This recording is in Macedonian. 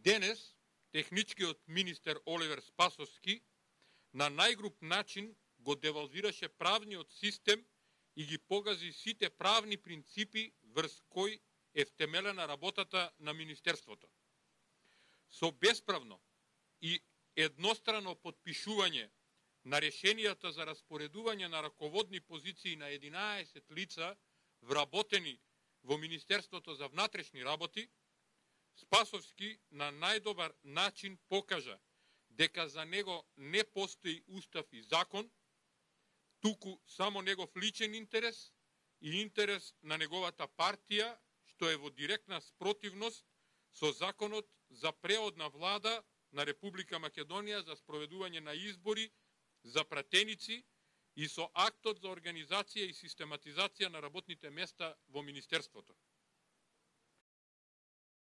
Денес, техничкиот министер Оливер Спасовски на најгруп начин го девалвираше правниот систем и ги погази сите правни принципи врз кои е втемелена работата на Министерството. Со bespravно и еднострано подпишување на решенијата за распоредување на раководни позиции на 11 лица вработени во Министерството за внатрешни работи, Спасовски на најдобар начин покажа дека за него не постои устав и закон, туку само негов личен интерес и интерес на неговата партија, што е во директна спротивност со законот за преодна влада на Република Македонија за спроведување на избори за пратеници и со актот за организација и систематизација на работните места во Министерството.